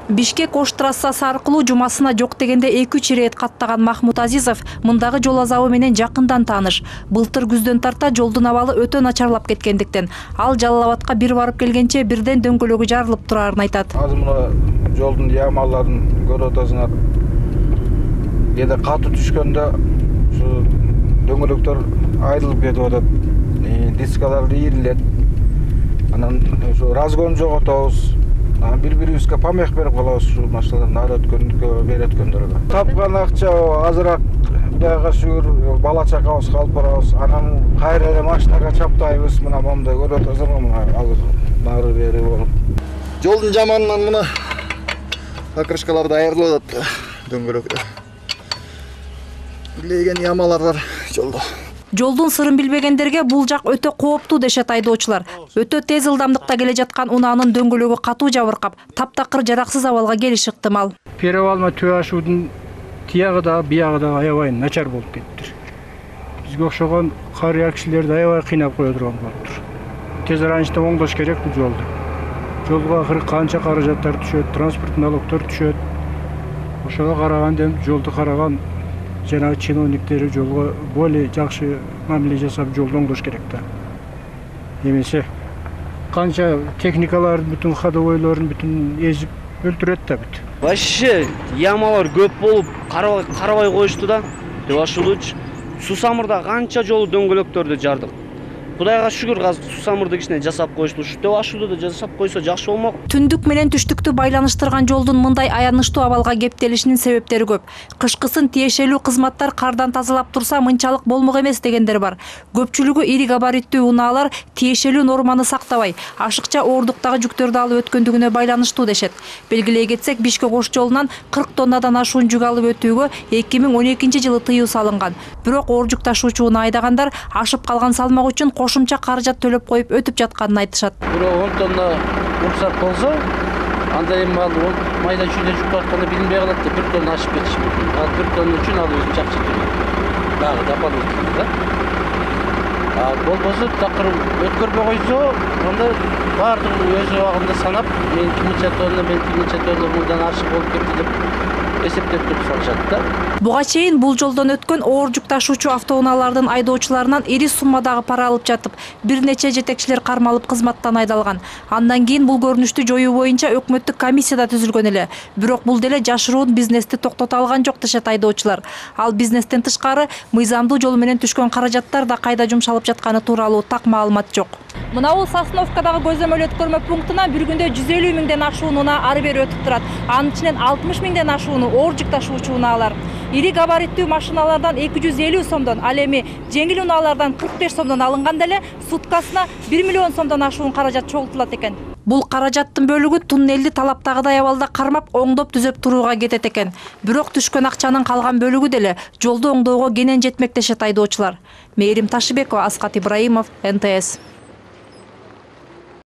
Бишкек-Ош трассасы аркылуу жумасына жок дегенде 2-3 ирет каттаган Махмут Азизов мындагы жол азабы менен жакындан тааныш. Былтыр күздөн тарта жолдун абалы өтө начарлап кеткендиктен ал Жалал Абадка бир барып келгенче бирден дөңгөлөгү жарылып турарын айтат. Азыр мына жолдун ямаларын көрүп атасыңар. Кээде катуу түшкөндө ушу дөңгөлөктөр айрылып кетип атат. Дискалар ийрилет. Анан ушу разгон жоготобуз. Бири-бирибизге помех берип калабыз ушул машиналардын ары өткөндүккө, бери өткөндөргө. Тапкан акча азыраак Кудайга шүгүр бала чакабызга алып барабыз. Анан кайра эле машинага чаптайбыз. Мына момундай көрүп атасыңар, мына азыр нары бери болуп. Жолдун жаманынан мына покрышкалар даярдалып атат дөңгөлөктө. Илеген ямалар бар жолдо. Жолдун сырын билбегендерге бул жак өтө кооптуу дешет айдоочулар. Өтө тез ылдамдыкта келе жаткан унаанын дөңгөлөгү катуу жабыркап, таптакыр жараксыз абалга келиши ыктымал. Перевалма төө ашуудун тиягы да, биягы да аябай начар болуп кетти. Бизге окшогон карыя кишилерди аябай кыйнап кое турган болуптур. Тез аранчта оңдош керек бул жолду. Жолго акыры канча каражаттар түшөт, транспорт налогдор түшөт. Ошого караганда жолду караган жана чиновниктер жолго более жакшы мамиле жасап жолду оңдош керек да. Эмесе канча техникалардын бүтүн ходовойлорун бүтүн эзип өлтүрөт да бүт. Вообще ямалар көп болуп карабай коюшту да. Деп ашылууч Сусамырда канча жолу дөңгөлөктөрдү жардык. Кудайга шүгүр азыр Сусамырды кичине жасап коюшту. Уште ашууду да жасап койсо жакшы болмок. Түндүк менен түштүктү байланыштырган жолдун мындай аянычтуу абалга кептелишинин себептери көп. Кышкысын тиешелүү кызматтар кардан тазалап турса мынчалык болмок эмес дегендер бар. Көпчүлүгү ири габариттүү унаалар тиешелүү норманы сактабай, ашыкча оорундуктагы жүктөрдү алып өткөндүгүнө байланыштуу дешет. Белгилей кетсек, Бишкек-Ош жолунан 40 тоннадан ашуун жүк алып өтүүгө 2012-жылы тыюу салынган. Бирок оор жүк ташуучуну айдагандар ашып калган салмак үчүн кошумча каражат төлөп коюп өтүп жатканын айтышат. Бирок 10 тонна уруксат болсо, анда эми ал майда чүйдө жүк тартканы билинбей калат деп 1 тонна ашып кетиши мүмкүн. Ал 1 тонна үчүн ал өзүнчө акча төлөйт. Дагы дополнительно да. Болбосо такыр өткөрбөй койсо, анда баардыгын өз убагында санап, мен кинче тонна мындан ашык болуп кетти деп эсептеп туруп салышат да. Буга чейин бул жолдон өткөн оор жүк ташуучу автоунаалардын айдоочуларынан ири суммадагы пара алып жатып, бир нече жетекчилер кармалып кызматтан айдалган. Андан кийин бул көрүнүштү жоюу боюнча өкмөттүк комиссия да түзүлгөн эле. Бирок бул деле жашыруун бизнести токтото алган жок дешет айдоочулар. Ал бизнестен тышкары мыйзамдуу жол менен түшкөн каражаттар да кайда жумшалып жатканы тууралуу так маалымат жок. Мына бул Сосновкадагы көзөмөл өткөрмө пунктуна бир күндө 150 миңден ашуун унаа ары бери өтүп турат. Анын ичинен 60 миңден ашууну оор жүк ташуучу унаалар. Ири габариттүү машиналардан 250 сомдон, ал эми жеңил унаалардан 45 сомдон алынганда эле суткасына 1 миллион сомдон ашуун каражат чогултулат экен. Бул каражаттын бөлүгү туннелди талаптагыдай абалда кармап, оңдоп түзөп турууга кетет экен. Бирок түшкөн акчанын калган бөлүгү деле жолду оңдоого кенен жетмек дешет айдоочулар. Мээрим Ташыбекова, Аскат Ибраимов, НТС.